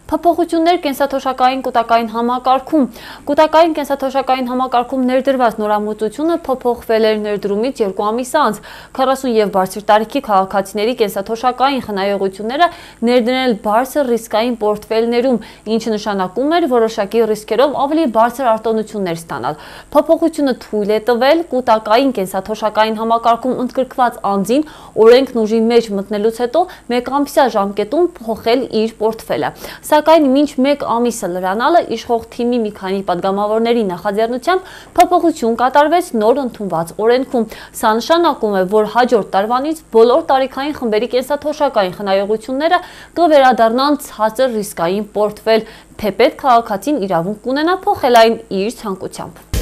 Փոփոխություններ կենսաթոշակային կուտակային համակարգում։ Կուտակային կենսաթոշակային համակարգում ներդրված նորամուծությունը փոփոխվել էր ներդրումից 2 ամիս անց։ 40 եւ բարձր տարիքի քաղաքացիների կենսաթոշակային խնայողությունները ներդնել բարձր ռիսկային պորտֆելներում, ինչը նշանակում էր որոշակի ռիսկերով ավելի բարձր արտոնություններ ստանալ։ Փոփոխությունը թույլ է տվել կուտակային կենսաթոշակային համակարգում ընդգրկված անձին օրենքն ուժի մեջ մտնելուց հետո 1 ամսյա ժամկետում փոխել իր պորտֆելը։ Սակայն մինչ 1 ամիսը լրանալը իշխող թիմի մի քանի պատգամավորների նախաձեռնությամբ փոփոխություն կատարվեց նոր ընդունված օրենքում։ Սա նշանակում է, որ հաջորդ տարվանից բոլոր տարիքային խմբերի կենսաթոշակային խնայողությունները կվերադառնան ցածր ռիսկային պորտֆել, թեպետ քաղաքացին իրավունք կունենա փոխել այն իր ցանկությամբ։